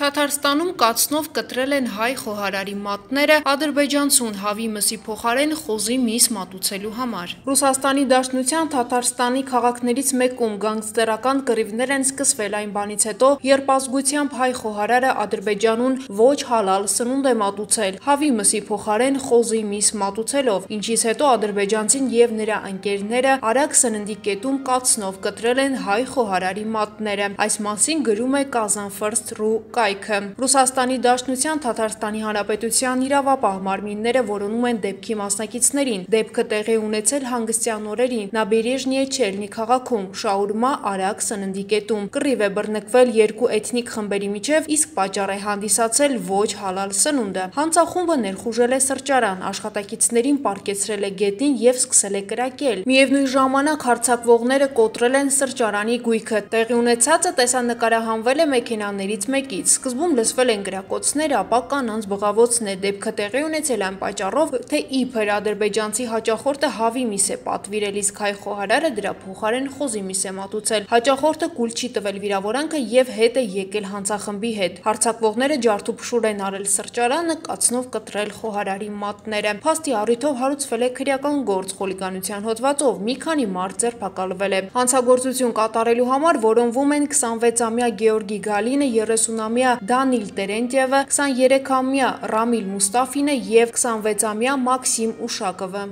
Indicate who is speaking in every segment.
Speaker 1: Թաթարստանում կացնով կտրել են հայ խոհարարի մատները ադրբեջանցուն հավի մսի փոխարեն խոզի միս մատուցելու համար։ Ռուսաստանի Դաշնության Թաթարստանի քաղաքներից մեկում գանգստերական կռիվներ են սկսվել այն բանից հետո, երբ ազգությամբ հայ խոհարարը Ադրբեջանուն ոչ հալալ սնունդ է մատուցել հավի մսի փոխարեն խոզի միս մատուցելով, ինչից հետո ադրբեջանցին եւ նրա ընկերները արագ սննդի կետում կացնով կտրել են հայ խոհարարի մատները։ Այս մասին գրում է Kazan-First.ru կայքը։ Ռուսաստանի Դաշնության Թաթարստանի Հանրապետության իրավապահ մարմինները որոնում են դեպքի մասնակիցներին։ Դեպքը տեղի ունեցել հանգստյան օրերին Նաբերեժնիե Չելնի քաղաքում շաուրմա արագ սննդի կետում։ Կռիվ է բռնկվել երկու էթնիկ խմբերի միջև, իսկ պատճառ է հանդիսացել ոչ հալալ սնունդը։ Հանցախումբը ներխուժել է սրճարան, աշխատակիցներին պառկեցրել է գետին եւ սկսել է կրակել։ Միևնույն ժամանակ հարձակվողները կոտրել են սրճարանի գույքը։ Տեղի ունեցածը տեսանկարահանվել է մեքենաներից մեկից։ Սկզբում լսվել են գրակոծներ, ապա կանանց բղավոցներ։ Դեպքը տեղի ունեցել այն պատճառով, թե իբր ադրբեջանցի հաճախորդը հավի միս է պատվիրել, իսկ հայ խոհարարը դրա փոխարեն խոզի միս է մատուցել։ Հաճախորդը կուլ չի տվել վիրավորանքը եւ հետ է եկել հանցախմբի հետ։ Հարձակվողները ջարդուփշուր են արել սրճարանը, կացնով կտրել խոհարարի մատները։ Փաստի առիթով հարուցվել է քրեական գործ խուլիգանության հոդվածով, մի քանի մարդ ձերբակալվել է։ Հանցագործություն կատարելու համար որոնվում են 26-ամյա Գեորգի Գալինը, 30-ամյա Դանիլ Տերենտյևը, 23-ամյա Ռամիլ Մուստաֆինը եւ 26-ամյա Մաքսիմ Ուշակովը։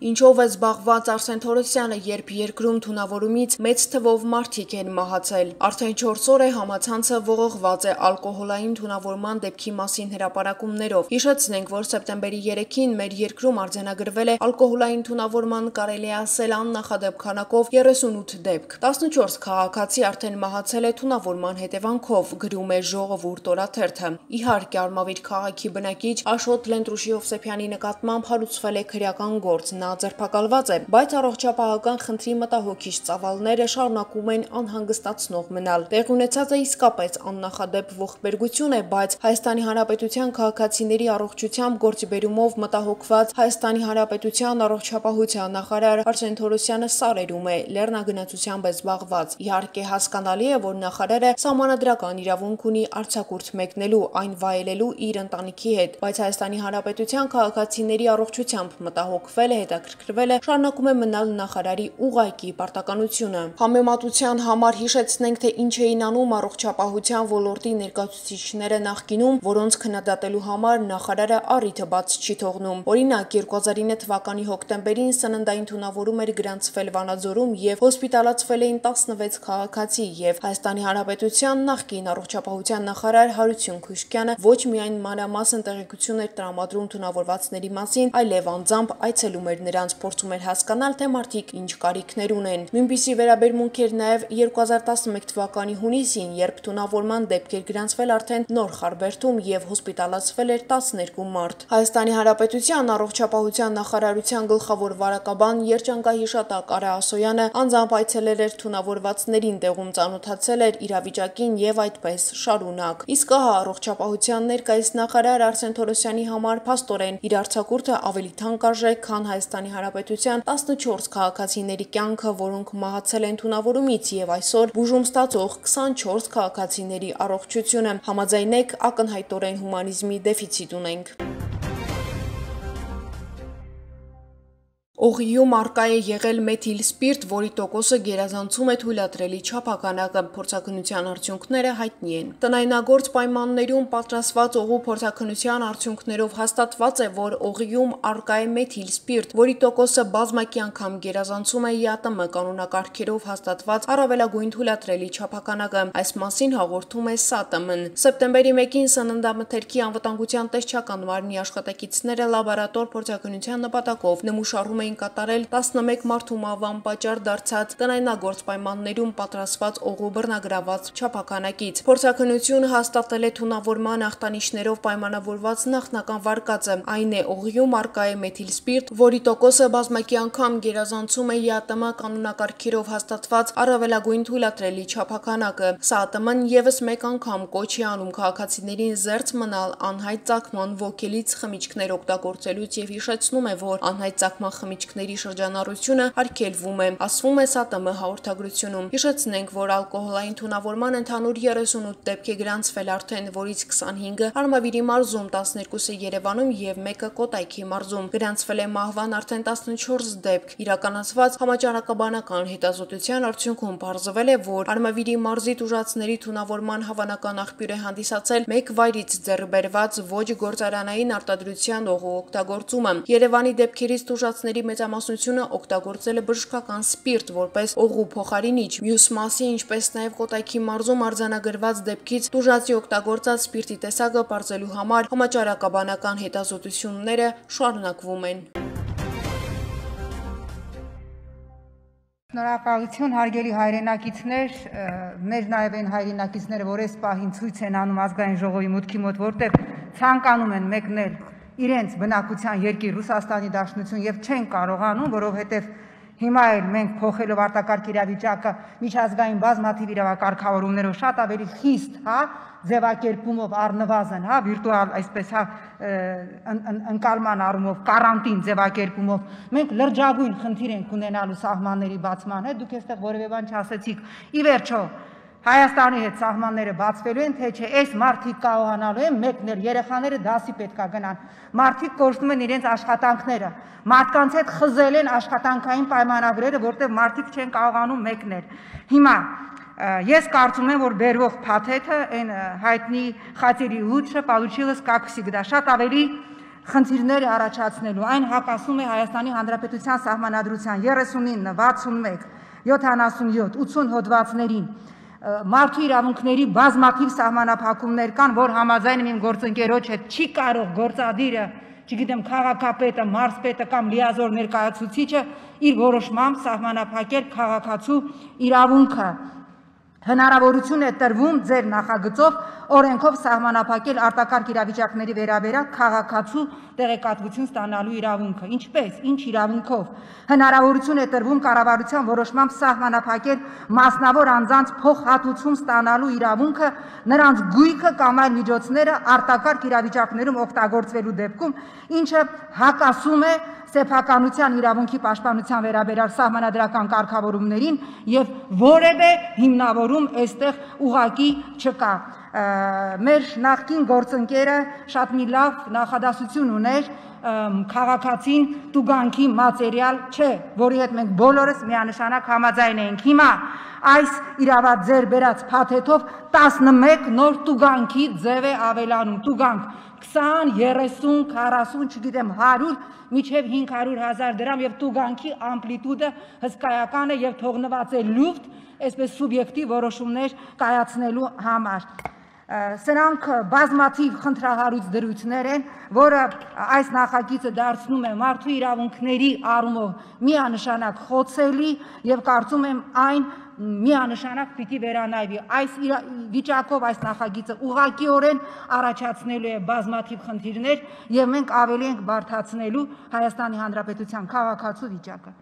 Speaker 1: Ինչով է զբաղված Արսեն Թորոսյանը, երբ երկրում թունավորումից մեծ թվով մարդիկ են մահացել։ Արդեն 4 օր է համացանցը ողողված է ալկոհոլային թունավորման դեպքի մասին հրապարակումներով։ Հիշեցնենք, որ սեպտեմբերի 3-ին մեր երկրում արձանագրվել է ալկոհոլային թունավորման կարելի է ասել աննախադեպ քանակով 38 դեպք։ 14 քաղաքացի արդեն մահացել է թունավորման հետևանքով, գրում է Ժողովուրդ օրաթերթը։ Իհարկե, Արմավիր քաղաքի բնակիչ Աշոտ Լենտրուշի Հովսեփյանի նկատմամբ հարուցվել է քրեական գործ։ Նա ձերբակալված է, բայց առողջապահական խնդրի մտահոգիչ ծավալները շարունակում են անհանգստացնող մնալ։ Տեղ ունեցածը իսկապես աննախադեպ ողբերգություն է, բայց Հայաստանի Հանրապետության քաղաքացիների առողջությամբ գործիբերումով մտահոգված Հայաստանի Հանրապետության առողջապահության նախարար Արսեն Թորոսյանը սարերում է, լեռնագնացությամբ է զբաղված։ Իհարկե հասկանալի է, որ նախարարը սահմանադրական իրավունք ունի արձակուրդ մեկնելու, այն վայելելու իր ընտանիքի հետ, բայց Հայաստանի Հանրապետության քաղաքացիների առողջությամբ մտահոգվել է, հետաքրքրվել է, շարունակում է մնալ նախարարի ուղղակի պարտականությունը։ Համեմատության համար հիշեցնենք, թե ինչ էին անում առողջապահության ոլորտի ներկայացուցիչները նախկինում, որոնց քննադատելու համար նախարարը առիթը բաց չի թողնում։ Օրինակ, 2009 թվականի հոկտեմբերին սննդային թունավորում էր գրանցվել Վանաձորում եւ հոսպիտալացվել էին 16 քաղաքացի, եւ Հայաստանի Հանրապետության նախկին առողջապահության նախարար Հարություն Քուշկյանը ոչ միայն մանրամասն տեղեկություն էր տրամադրում թունավորվածների մասին, այլև անձամբ այցելում էր նրանց, փորձում էր հասկանալ, թե մարդիկ ինչ կարիքներ ունեն։ Նույնպիսի վերաբերմունք էր նաև 2011 թվականի հունիսին, երբ թունավորման դեպք էր գրանցվել արդեն Նոր Խարբերդում եւ հոսպիտալացվել էր 12 մարդ։ Հայաստանի Հանրապետության առողջապահության նախարարության գլխավոր վարակաբան երջանկահիշատակ Արա Ասոյանը անձամբ այցելել էր թունավորվածներին, տեղում ծանոթացել էր իրավիճակին եւ այդպես շարունակ։ Իսկ ահա առողջապահության ներկայիս նախարար Արսեն Թորոսյանի համար փաստորեն իր արձակուրդը ավելի թանկարժեք, քան Հայաստանի Հանրապետության 14 քաղաքացիների կյանքը, որոնք մահացել են թունավորումից, եւ այսօր բուժում ստացող 24 քաղաքացիների առողջությունը։ Համաձայնեք, ակնհայտորեն հումանիզմի դեֆիցիտ ունենք։ Օղիում արկա է եղել մեթիլ սպիրտ, որի տոկոսը գերազանցում է թույլատրելի չափականակը։ Փորձաքննության արդյունքները հայտնի են։ Տնայնագործ պայմաններում պատրաստված օղու փորձաքննության արդյունքներով հաստատված է, որ օղիում արկա է մեթիլ սպիրտ, որի տոկոսը բազմակի անգամ գերազանցում է ԵԱՏՄ կանոնակարգերով հաստատված առավելագույն թույլատրելի չափականակը։ Այս մասին հաղորդում է ՍԱՏՄ-ն։ Սեպտեմբերի 1-ին Սննդամթերքի անվտանգության տեսչական մարմնի աշխատակիցները լաբորատոր փորձաքննության նպատակով նմուշառում էին կատարել 11 մարդու մահվան պատճառ դարձած տնայնագործ պայմաններում պատրաստված օղու բռնագրաված չափականակից։ Փորձաքննությունը հաստատել է թունավորման ախտանիշներով պայմանավորված նախնական վարկածը, այն է օղիում արկա է մեթիլ սպիրտ, որի տոկոսը բազմակի անգամ գերազանցում է ԵԱՏՄ կանոնակարգերով հաստատված առավելագույն թույլատրելի չափականակը։ ՍԱՏՄ-ն եւս մեկ անգամ կոչ է անում քաղաքացիներին զերծ մնալ անհայտ ծագման ոգելից խմիչքներ օգտագործելուց եւ հիշեցնում է, որ անհայտ ծագման խմիչքները խմիչքների շրջանառությունը արգելվում է, ասվում է ՍԱՏՄ հաղորդագրությունում։ Հիշեցնենք, որ ալկոհոլային թունավորման ընդհանուր 38 դեպք է գրանցվել արդեն, որից 25-ը Արմավիրի մարզում, 12-ը Երևանում եւ 1-ը Կոտայքի մարզում։ Գրանցվել է մահվան արդեն 14 դեպք։ Իրականացված համաճարակաբանական հետազոտության արդյունքում պարզվել է, որ Արմավիրի մարզի տուժածների թունավորման հավանական աղբյուր է հանդիսացել մեկ վայրից ձեռբերված ոչ գործարանային արտադրության օղու օգտագործումը։ Երևանի դեպքերից տուժածների մեծամասնությունը օգտագործել է բժշկական սպիրտ որպես օղու փոխարինիչ։ Մյուս մասի, ինչպես նաև Կոտայքի մարզում արձանագրված դեպքից տուժածի օգտագործած սպիրտի տեսակը պարզելու համար համաճարակաբանական հետազոտությունները շարունակվում են։
Speaker 2: Շնորհակալություն հարգելի հայրենակիցներ, մեր նաև այն հայրենակիցները, որ այս պահին ցույց են անում ազգային ժողովի մուտքի մոտ, որտեղ ցանկանում են մեկնել իրենց բնակության երկիր Ռուսաստանի Դաշնություն եւ չեն կարողանում, որովհետեւ հիմա էլ մենք փոխելով արտակարգ իրավիճակը միջազգային բազմաթիվ իրավակարգավորումներով շատ ավելի խիստ, ձևակերպումով առնվազն, վիրտուալ, այսպես, ընկալման առումով, կարանտին ձևակերպումով, մենք լրջագույն խնդիր ենք ունենալու սահմանների բացման հետ, դուք այստեղ որևէ բան չասեցիք, ի վերջո Հայաստանի հետ սահմանները բացվելու են, թե չէ, այս մարդիկ կարողանալու են մեկնել, երեխաները դասի պետքա գնան, մարդիկ կորցնում են իրենց աշխատանքները, մարդկանց հետ խզել են աշխատանքային պայմանագրերը, որտեղ մարդիկ չեն կարողանում մեկնել։ Հիմա ես կարծում եմ, որ բերվող փաթեթը, այն հայտնի խաթերի լուչը, получилось как всегда, շատ ավելի խնդիրներ է առաջացնելու, այն հակասում է Հայաստանի Հանրապետության սահմանադրության 39, 61, 77, 80 հոդվածներին։ Մարդու իրավունքների բազմաթիվ սահմանափակումներ կան, որ համաձայն իմ գործընկերոջ հետ չի կարող գործադիրը, չգիտեմ, քաղաքապետը, մարզպետը կամ լիազոր ներկայացուցիչը իր որոշմամբ սահմանափակել քաղաքացու իրավունքը։ Հնարավորություն է տրվում ձեր նախագծով օրենքով սահմանափակել արտակարգ իրավիճակների վերաբերյալ քաղաքացու տեղեկատվություն ստանալու իրավունքը։ Ինչպես, ինչ իրավունքով։ Հնարավորություն է տրվում կառավարության որոշմամբ սահմանափակել մասնավոր անձանց փոխհատուցում ստանալու իրավունքը նրանց գույքը կամ այլ միջոցները արտակարգ իրավիճակներում օգտագործվելու դեպքում, ինչը հակասում է սեփականության իրավունքի պաշտպանության վերաբերյալ սահմանադրական կարգավորումներին եւ որևէ հիմնավորում այստեղ ուղղակի չկա։ Մեր նախկին գործընկերը շատ մի լավ նախադասություն ուներ քաղաքացին տուգանքի մատերիալ չէ, որի հետ մենք բոլորս միանշանակ համաձայն ենք։ Հիմա այս իրավատ ձեր բերած փաթեթով 11 նոր տուգանքի ձև է ավելանում, տուգանք 20, 30, 40, չգիտեմ, 100, միջև 500,000 դրամ եւ տուգանքի ամպլիտուդը հսկայական է եւ թողնված է լուֆտ, այսպես սուբյեկտիվ որոշումներ կայացնելու համար։ Սրանք բազմաթիվ խնդրահարույց դրույթներ են, որը այս նախագիծը դարձնում է մարդու իրավունքների առումով միանշանակ խոցելի եւ կարծում եմ այն միանշանակ պիտի վերանայվի։ Այս վիճակով այս նախագիծը ուղղակիորեն առաջացնելու է բազմաթիվ խնդիրներ եւ մենք ավելի ենք բարդացնելու Հայաստանի Հանրապետության քաղաքացու վիճակը։